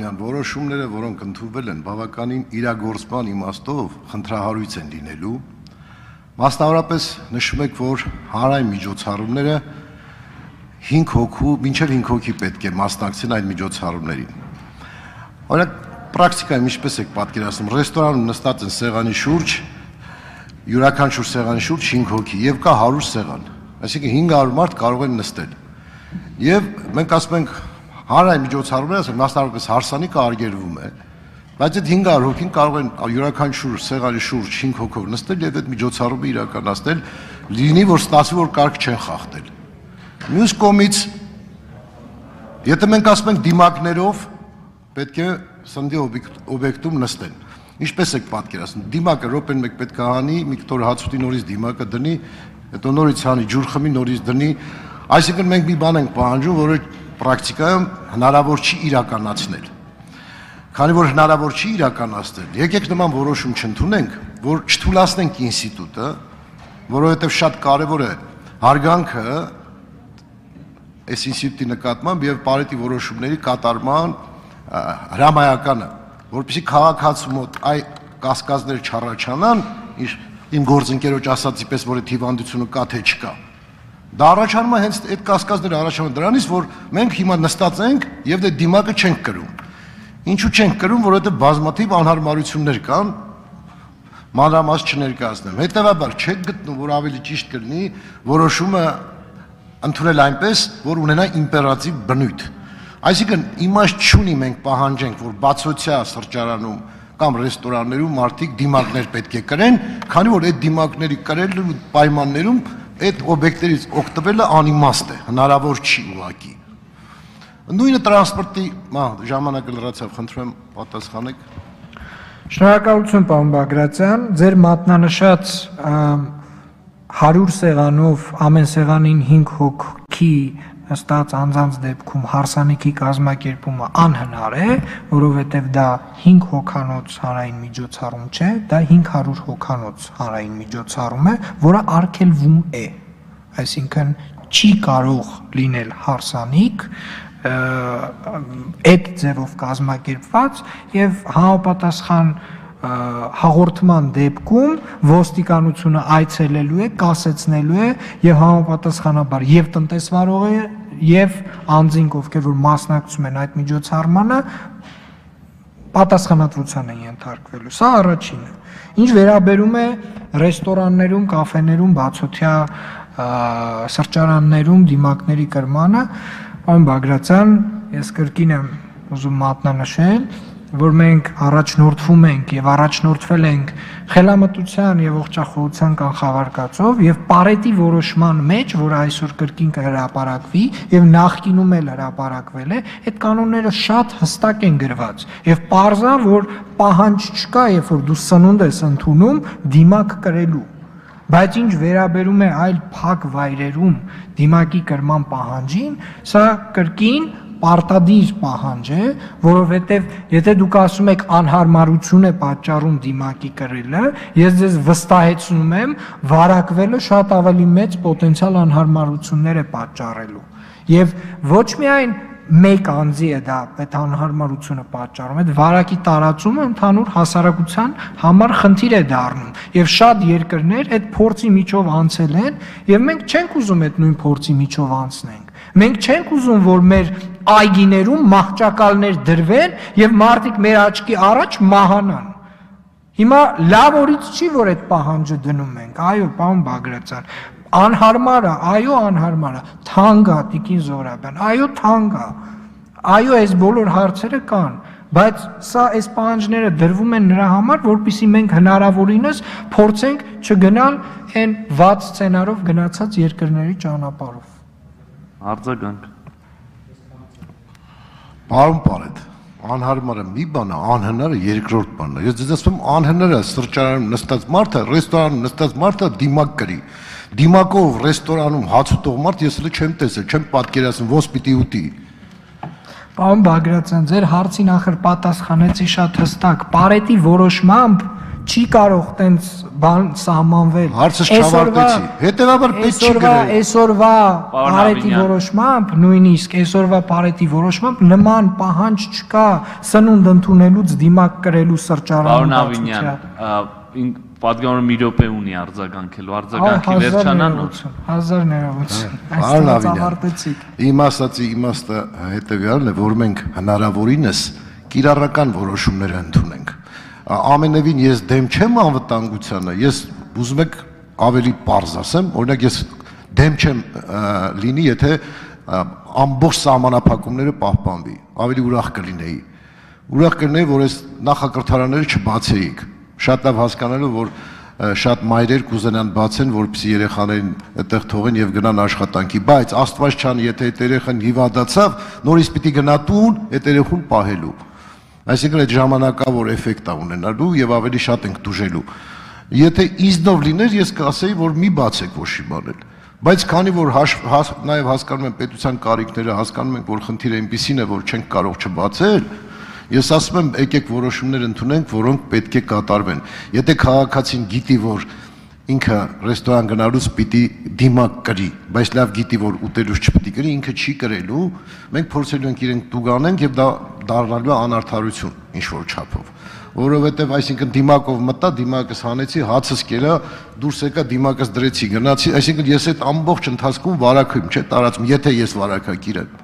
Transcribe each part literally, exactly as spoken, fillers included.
Աբրահամյան որոշումները, որոնք ընդունվել են, բավականին իրագործման իմաստով խնդրահարույց են լինելու։ Մասնավորապես նշում եք, որ հանրային միջոցառումները հինգ հոգու, մինչև հինգ հոգի պետք է մասնակցեն այդ միջոցառումներին։ Օրինակ, պրակտիկայում ինչպես եք պատկերացնում, ռեստորանում նստած են սեղանի շուրջ, յուրաքանչյուր սեղանի շուրջ հինգ հոգի եւ կա հարյուր սեղան, այսինքն հինգ հարյուր մարդ կարող են նստել։ Եվ մենք ասում ենք հանրային միջոցառումները, մասնավորապես հարսանիքը արգելվում է, բայց այդ հինգ հարյուր հոգին կարող են յուրաքանչյուր սեղանի շուրջ հինգ հոգով նստել եւ այդ միջոցառումը իրականացնել, լինի որ ստացվի որ կարգ չեն խախտել։ Մյուս կողմից, եթե մենք ասում ենք դիմակներով, պետք է սննդի օբյեկտում նստեն։ Ինչպես եք պատկերացնում, դիմակը րոպեն մեկ պետք է հանի, մի կտոր հաց ուտի նորից դիմակը դնի, հետո նորից հանի, ջուր խմի, նորից դնի, այսինքն մենք մի բան ենք պահանջում, որը պրակտիկայում հնարավոր չի իրականացնել։ Քանի որ հնարավոր չի իրականացնել, եկեք նման որոշում չընդունենք, որ չթույլատնենք ինստիտուտը, որովհետև շատ կարևոր է հարգանքը այս ինստիտուտի նկատմամբ եւ Պարետի որոշումների կատարման հրամայականը, որպեսզի քաղաքացու մոտ այ կասկածներ չառաջանան, իմ գործընկերոջ ասածի պես, որ այդ հիվանդությունը կա թե չկա։ Դա առաջանում է հենց այդ կասկածները առաջանում դրանից, որ մենք հիմա նստած ենք եւ այդ դիմակը չենք կրում։ Ինչու չենք կրում, որովհետեւ բազմաթիվ անհարմարություններ կան, մանրամաս չներկայացնեմ։ Հետևաբար չեք գտնում, որ ավելի ճիշտ կլինի որոշումը ընդունել այնպես, որ ունենա իմպերատիվ բնույթ։ Այսինքն իմաստ չունի մենք պահանջենք, որ բացօթյա սրճարանում կամ ռեստորաններում մարդիկ դիմակներ պետք է կրեն, քանի որ այդ դիմակների կրելու պայմաններում այդ օբյեկտներից օգտվելը անիմաստ է, հնարավոր չի ուղղակի։ Նույնը տրանսպորտի ժամանակը լրացավ, խնդրում եմ պատասխանեք։ Շնորհակալություն, պարոն Բագրատյան, ձեր մատնանշած հարյուր սեղանով ամեն սեղանին հինգ հոգի նստած անձանց դեպքում հարսանիքի կազմակերպումը անհնար է, որովհետև դա հինգ հոգանոց հանրային միջոցառում չէ, դա հինգ հարյուր հոգանոց հանրային միջոցառում է, որը արգելվում է, այսինքն չի կարող լինել հարսանիք այդ ձևով կազմակերպված եւ համապատասխան հաղորդման դեպքում ոստիկանությունը այցելելու է, կասեցնելու է եւ համապատասխանաբար եւ տնտեսվարողը եւ անձինք, ովքեր որ մասնակցում են այդ միջոցառմանը, պատասխանատվության են ենթարկվելու։ Սա առաջինը։ Ինչ վերաբերում է ռեստորաններում, կաֆեներում, բացօթյա սրճարաններում դիմակների կրմանը, պարոն Բագրատյան, ես կրկին եմ ուզում մատնանշել, որ մենք առաջնորդվում ենք եւ առաջնորդվել ենք խելամտության եւ ողջախոհության կանխավարկածով եւ Պարետի որոշման մեջ, որ այսօր կրկին կհրապարակվի եւ նախկինում էլ հրապարակվել է, այդ կանոնները շատ հստակ են գրված եւ պարզա, որ պահանջ չկա, երբ որ դու սնունդ ես ընդունում դիմակ կրելու, բայց ինչ վերաբերում է այլ փակ վայրերում դիմակի կրման պահանջին, սա կրկին պարտադիր պահանջ է, որովհետև եթե դուք ասում եք անհարմարություն է պատճառում դիմակի կրելը, ես ձեզ վստահեցնում եմ, վարակվելը շատ ավելի մեծ պոտենցիալ անհարմարություններ է պատճառելու։ Եվ ոչ միայն մեկ անձի է դա այդ անհարմարությունը պատճառում, այդ վարակի տարածումը ընդհանուր հասարակության համար խնդիր է դառնում։ Եվ շատ երկրներ այդ փորձի միջով անցել են, եւ մենք չենք ուզում այդ նույն փորձի միջով անցնենք։ Մենք չենք ուզում, որ մեր այգիներում մահճակալներ դրվեն եւ մարդիկ մեր աչքի առաջ մահանան։ Հիմա լավ օրից չի, որ այդ պահանջը դնում ենք։ Այո, պարոն Բագրատյան, անհարմար է, այո, անհարմար է, թանկ է, Տիկին Զոհրաբյան, այո, թանկ է։ Այո, այս բոլոր հարցերը կան, բայց սա այս պահանջները դրվում են նրա համար, որպեսզի մենք հնարավորինս փորձենք չգնալ այն վատ սցենարով գնացած երկրների ճանապարհով։ Արձագանք։ Պարոն Պարետ, անհարմարը մի բան է, անհնարը երկրորդ բանն է։ Ես ձեզ ասում եմ, անհնարը սրճարանում նստած մարդը, ռեստորանում նստած մարդը դիմակ կրի։ Դիմակով ռեստորանում հաց ուտող մարդ ես էլ չեմ տեսել, չեմ պատկերացնում, ոնց պիտի ուտի։ Պարոն Բագրատյան, ձեր հարցին ախր պատասխանեցի շատ հստակ, Պարետի որոշմամբ չի կարող տենց բան սահմանվել։ Հարցս չավարտեցի։ Հետևաբար պետք չի գրել։ Այսօրվա Պարետի որոշմամբ, նույնիսկ այսօրվա Պարետի որոշմամբ նման պահանջ չկա սնունդ ընդունելուց դիմակ կրելու սրճարանում։ Պարոն Ավինյան, պատգամավորը մի րոպե ունի արձագանքելու, արձագանքի վերջանանո։ հազար ներողություն։ Պարոն Ավինյան, իմ ասացի իմաստը հետևյալն է, որ մենք հնարավորինս կիրառական որոշումներ ընդունենք։ Ամենևին ես դեմ չեմ անվտանգությանը, ես ուզում եք ավելի պարզ ասեմ, օրինակ ես դեմ չեմ լինի, եթե ամբողջ սահմանափակումները պահպանվի, ավելի ուրախ կլինեի։ Ուրախ կլինեի, որ այս նախակրթարանները չբացեիք, շատ լավ հասկանալով, որ շատ մայրեր կուզենան բացեն, որպեսզի երեխաներին այդտեղ թողեն եւ գնան աշխատանքի, բայց Աստված չան, եթե այդ երեխան հիվանդացավ, նորից պիտի գնա տուն, այդ երեխուն պահելու։ Այսինքն այդ ժամանակավոր էֆեկտ է ունենալու եւ ավելի շատ ենք դուժելու։ Եթե իզնով լիներ, ես կասեի, որ մի բացեք ոչի բանել։ Բայց քանի որ նաեւ հասկանում եմ պետության կարիքները, հասկանում ենք, որ խնդիրը այնպեսին է, որ չենք կարող չբացել, ես ասում եմ, եկեք որոշումներ ընդունենք, որոնք պետք է կատարվեն։ Եթե քաղաքացին գիտի, որ ինքը ռեստորան գնալուց պիտի դիմակ կրի, բայց լավ գիտի, որ ուտելուց չպիտի կրի, ինքը չի կրելու, մենք փորձելու ենք իրենք տուգանենք եւ դա դառնալու է անարդարություն ինչ որ չափով, որովհետեւ այսինքն դիմակով մտա, դիմակս հանեցի, հացս կերա, դուրս եկա, դիմակս դրեցի, գնացի, այսինքն ես այդ ամբողջ ընթացքում վարակում, չէ՞, տարածում, եթե ես վարակակիր եմ։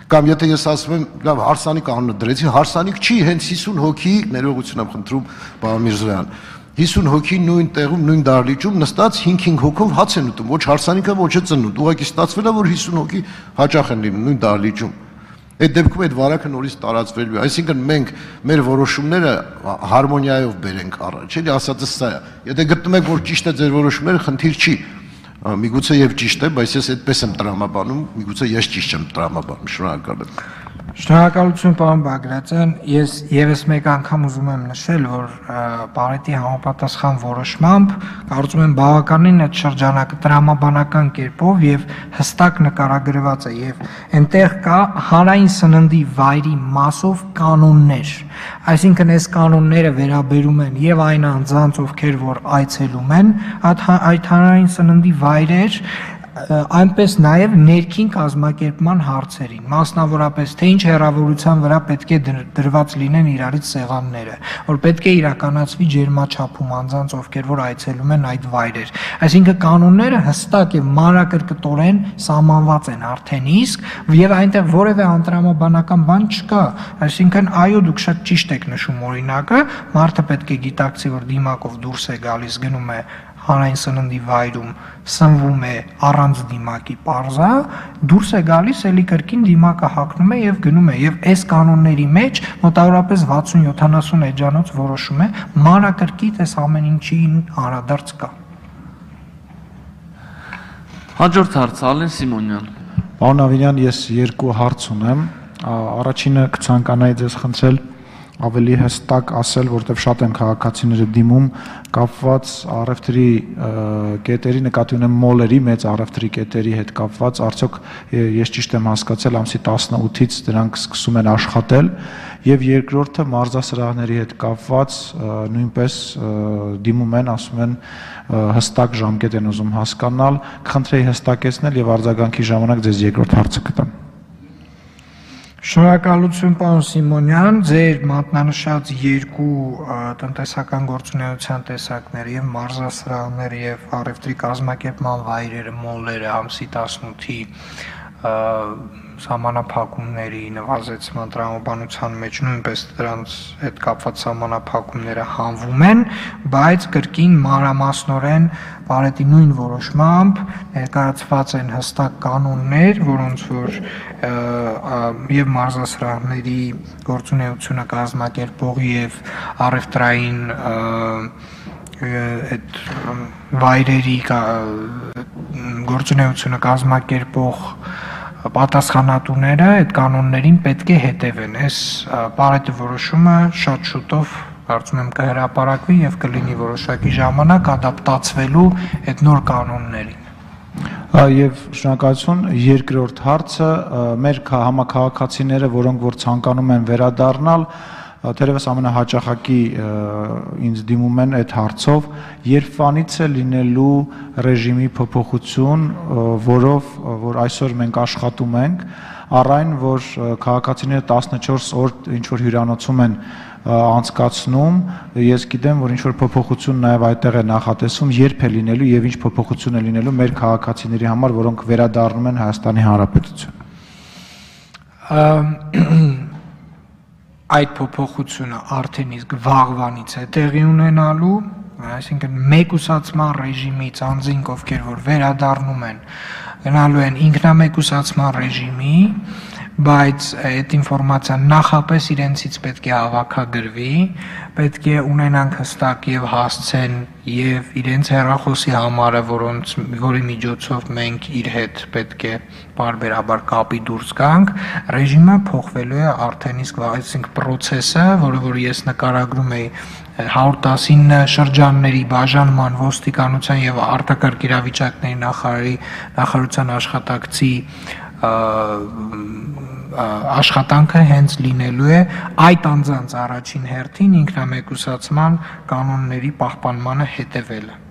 Կամ եթե ես ասում եմ, լավ, հարսանիք անունը դրեցի, հարսանիք չի, հենց հիսուն հոգի, ներողություն եմ խնդրում, պարոն Միրզոյան, հիսուն հոգի նույն տեղում, նույն դահլիճում նստած հինգ-հինգ հոգով հաց են ուտում, ոչ հարսանիքը, ոչ է ծնունդ, ուղղակի ստացվել է, որ հիսուն հոգի հաճախ են լինում նույն դահլիճում։ Այդ դեպքում այդ վարակը նորից տարածվելու է, այսինքն մենք մեր որոշումները հարմոնիայով բերենք առաջ, էլի ասածս սա է։ Եթե գտնում եք, որ ճիշտ է ձեր որոշումները, խնդիր չի։ Միգուցե եւ ճիշտ է, բայց ես այդպես եմ տրամաբանում, միգուցե ես ճիշտ չեմ տրամաբանում, շնորհակալ եմ։ Շնորհակալություն պարոն Բագրատյան, ես եւս մեկ անգամ ուզում եմ նշել, որ Պարետի համապատասխան որոշմամբ կարծում եմ բավականին այդ շրջանակը տրամաբանական կերպով եւ հստակ նկարագրված է եւ այնտեղ կա հանրային սննդի վայրի մասով կանոններ, այսինքն այս կանոնները վերաբերում են եւ այն անձանց, ովքեր որ այցելում են այդ հանրային սննդի վայրեր, այնպես նաև ներքին կազմակերպման հարցերին, մասնավորապես թե ինչ հեռավորության վրա պետք է դրված լինեն իրարից սեղանները, որ պետք է իրականացվի ջերմաչափում անձանց, ովքեր որ այցելում են այդ վայրեր։ Այսինքն կանոնները հստակ եւ մանրակրկտորեն սահմանված են արդեն իսկ եւ այնտեղ որևէ անտրամաբանական բան չկա։ Այսինքն այո, դուք շատ ճիշտ եք նշում օրինակը, մարդը պետք է գիտակցի, որ դիմակով դուրս է գալիս, գնում է հանրային սննդի վայրում, սնվում է առանց դիմակի պարզա, դուրս է գալիս, էլի կրկին դիմակը հագնում է եւ գնում է եւ այս կանոնների մեջ մոտավորապես վաթսուն-յոթանասուն էջանոց որոշում է մանրակրկիտ այս ամեն ինչին անդրադարձ կա։ Հաջորդ հարցը Ալեն Սիմոնյան։ Պարոն Ավինյան, ես երկու հարց ունեմ, առաջինը կցանկանայի ձեզ խնդրել ավելի հստակ ասել, որտեղ շատ են քաղաքացիները դիմում կապված առևտրի կետերի, նկատի ունեմ մոլերի, մեծ առևտրի կետերի հետ կապված, արդյոք ես ճիշտ եմ հասկացել, ամսի տասնութից դրանք սկսում են աշխատել, եւ երկրորդը մարզասրահների հետ կապված նույնպես դիմում են, ասում են հստակ ժամկետ են ուզում հասկանալ, կխնդրեի հստակեցնել եւ արձագանքի ժամանակ ձեզ երկրորդ հարցը կտամ։ Շնորհակալություն պարոն Սիմոնյան, ձեր մատնանշած երկու տնտեսական գործունեության տեսակները եւ մարզասրահները եւ առևտրի կազմակերպման վայրերը, մոլերը ամսի տասնութի սահմանափակումների նվազեցման տրամաբանության մեջ նույնպես դրանց հետ կապված սահմանափակումները հանվում են, բայց կրկին մանրամասնորեն Պարետի նույն որոշմամբ ներկայացված են հստակ կանոններ, որոնց որ եւ մարզասրահների գործունեությունը կազմակերպողի եւ առևտրային այդ վայրերի գործունեությունը կազմակերպող պատասխանատուները այդ կանոններին պետք է հետևեն։ Այս Պարետի որոշումը շատ շուտով կարծում եմ կհրապարակվի եւ կլինի որոշակի ժամանակ ադապտացվելու այդ նոր կանոններին։ Եվ շնորհակալություն, երկրորդ հարցը մեր համաքաղաքացիները, որոնք որ ցանկանում են վերադառնալ, թերևս ամենահաճախակի ինձ դիմում են այդ հարցով, երբանից է լինելու ռեժիմի փոփոխություն, որով որ այսօր մենք աշխատում ենք, առ այն, որ քաղաքացիները տասնչորս օր ինչ որ հյուրանոցում են անցկացնում, ես գիտեմ, որ ինչ որ փոփոխություն նաև այդտեղ է նախատեսվում, երբ է լինելու եւ ինչ փոփոխություն է լինելու մեր քաղաքացիների համար, որոնք վերադառնում են Հայաստանի Հանրապետություն։ Այդ փոփոխությունը արդեն իսկ վաղվանից է տեղի ունենալու, այսինքն մեկուսացման ռեժիմից անձինք, ովքեր որ վերադառնում են, գնալու են ինքնամեկուսացման ռեժիմի, բայց այդ ինֆորմացիան նախապես իրենցից պետք է հավաքագրվի, պետք է ունենանք հստակ եւ հասցեն եւ իրենց հեռախոսի համարը, որոնց որի միջոցով մենք իր հետ պետք է բարբերաբար կապի դուրս գանք, ռեժիմը փոխվելու է արդեն իսկ այսինքն process-ը, որը որ ես նկարագրում էի հարյուր տասնինը շրջանների բաժանման ոստիկանության եւ արտակարգ իրավիճակների նախարարի նախարարության աշխատակցի աշխատանքը հենց լինելու է այդ անձանց առաջին հերթին ինքնամեկուսացման կանոնների պահպանմանը հետևելը։